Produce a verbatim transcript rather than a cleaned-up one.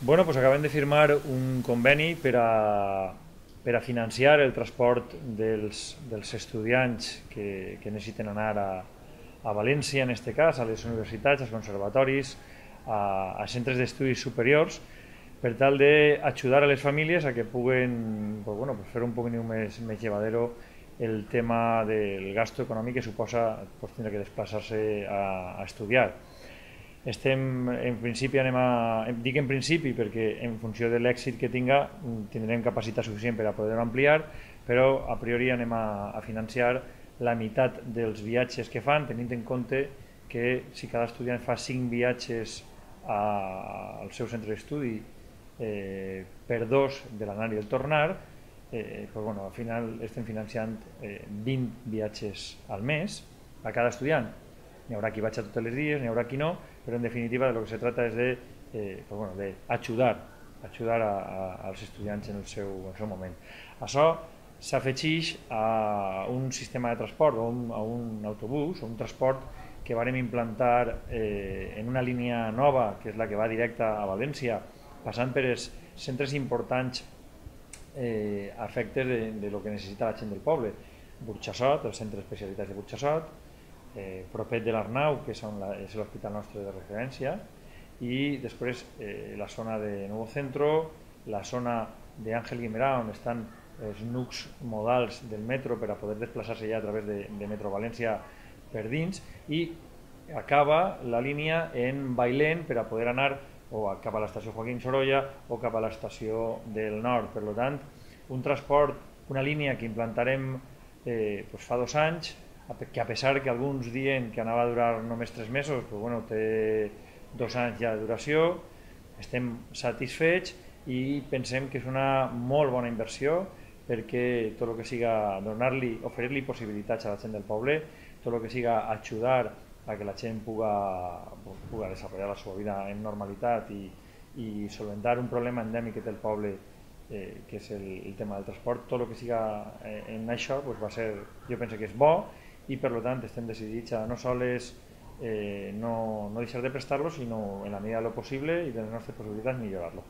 Bueno, pues acabem de firmar un conveni per a, per a financiar el transport dels, dels estudiants que, que necessiten anar a, a València, en aquest cas, a les universitats, als conservatoris, a, a centres d'estudis superiors, per tal d'ajudar a les famílies a que puguen pues, bueno, pues fer un poc més, més llevadero el tema del gasto econòmic que suposa pues, tindre que desplaçar-se a, a estudiar. Estem, en principi anem a, dic en principi perquè en funció de l'èxit que tinga tindrem capacitat suficient per a poder-ho ampliar, però a priori anem a, a financiar la meitat dels viatges que fan, tenint en compte que si cada estudiant fa cinc viatges a, al seu centre d'estudi eh, per dos de l'anar i el tornar, eh, pues bueno, al final estem financiant eh, vint viatges al mes a cada estudiant. N'hi haurà qui vaig a tots els dies, n'hi haurà qui no, però en definitiva de lo que se trata és de, eh, pues bueno, de ajudar, ajudar a, a, als estudiants en el seu, en el seu moment. Això s'afegeix a un sistema de transport, a un, a un autobús, a un transport que vàrem implantar eh, en una línia nova, que és la que va directa a València, passant per els centres importants eh, a efectes de, de lo que necessita la gent del poble. Burxassot, el centre d'especialitats de Burxassot, eh, propet de l'Arnau, que és, la, és l'hospital nostre de referència, i després eh, la zona de Nou Centro, la zona d'Àngel Guimerà, on estan els nucs modals del metro per a poder desplaçar-se ja a través de, de Metro València per dins, i acaba la línia en Bailén per a poder anar o cap a l'estació Joaquín Sorolla o cap a l'estació del Nord. Per tant, un transport, una línia que implantarem eh, pues fa dos anys, que a pesar que alguns diuen que anava a durar només tres mesos, però bueno, té dos anys ja de duració, estem satisfets i pensem que és una molt bona inversió perquè tot el que siga donar-li, oferir-li possibilitats a la gent del poble, tot el que siga ajudar a que la gent puga, puga desenvolupar la seva vida en normalitat i, i solventar un problema endèmic que té el poble, eh, que és el, el tema del transport, tot el que siga eh, en això pues va ser, jo penso que és bo, i per tant estem decidits a no sols eh, no, no deixar de prestar-lo, sinó en la medida de lo possible i de les nostres possibilitats millorar-lo.